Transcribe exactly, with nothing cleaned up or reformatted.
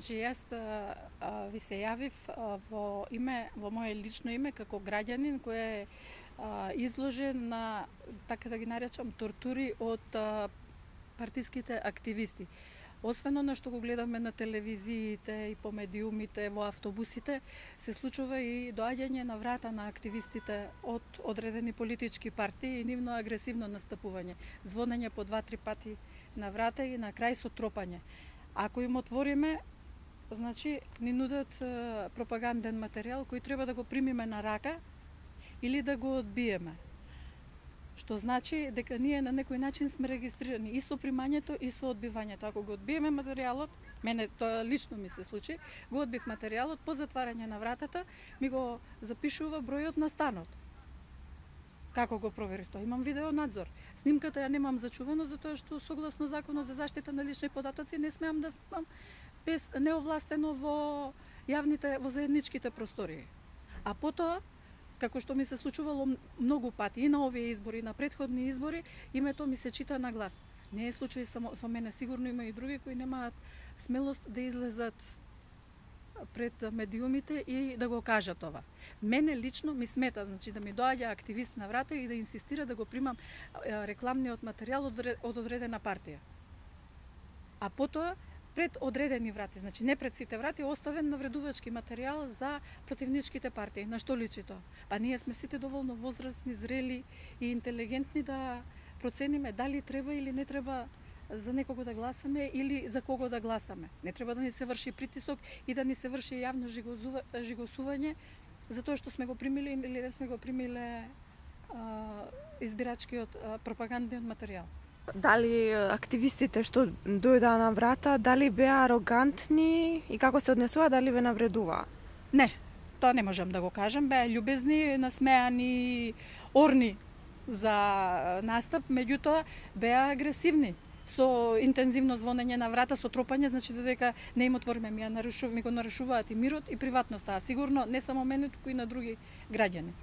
Значи, јас а, а, ви се јавив а, во име, во моје лично име како граѓанин кој е а, изложен на, така да ги наречам, тортури од а, партиските активисти. Освен она што го гледаме на телевизиите и по медиумите, во автобусите, се случува и доаѓање на врата на активистите од одредени политички партии и нивно агресивно настапување. Звонење по два-три пати на врата и на крај со тропање. Ако им отвориме, значи ни нудат е, пропаганден материјал кој треба да го примиме на рака или да го одбиеме. Што значи дека ние на некој начин сме регистрирани и со примањето и со одбивањето. Ако го одбиеме материјалот, мене тоа лично ми се случи, го одбив материјалот, по затварање на вратата ми го запишува бројот на станот. Како го проверив тоа? Имам видео надзор. Снимката ја немам зачувано затоа што согласно Законот за заштита на лични податоци не смеам да снимам без неовластено во јавните, во заедничките простории. А потоа, како што ми се случувало многу пати и на овие избори, и на претходни избори, името ми се чита на глас. Не е случај само со мене, сигурно има и други кои немаат смелост да излезат пред медиумите и да го кажат това. Мене лично ми смета, значи да ми доаѓа активист на врата и да инсистира да го примам рекламниот материјал од одредена партија. А потоа пред одредени врати, значи не пред сите врати, оставен навредувачки материјал за противничките партии. На што личи тоа? Па ние сме сите доволно возрастни, зрели и интелигентни да процениме дали треба или не треба за некого да гласаме или за кого да гласаме. Не треба да ни се врши притисок и да ни се врши јавно жигосување за тоа што сме го примиле или не сме го примиле а, избирачкиот а, пропагандниот материјал. Дали активистите што дојдаа на врата, дали беа арогантни и како се однесува, дали ве навредуваа? Не, тоа не можам да го кажам. Беа љубезни, насмеани, орни за настап, меѓутоа беа агресивни со интензивно звонење на врата, со тропање, значи додека не им отвориме, ми, ја нарушу, ми го нарушуваат и мирот и приватноста, а сигурно не само мене, туку и на други граѓани.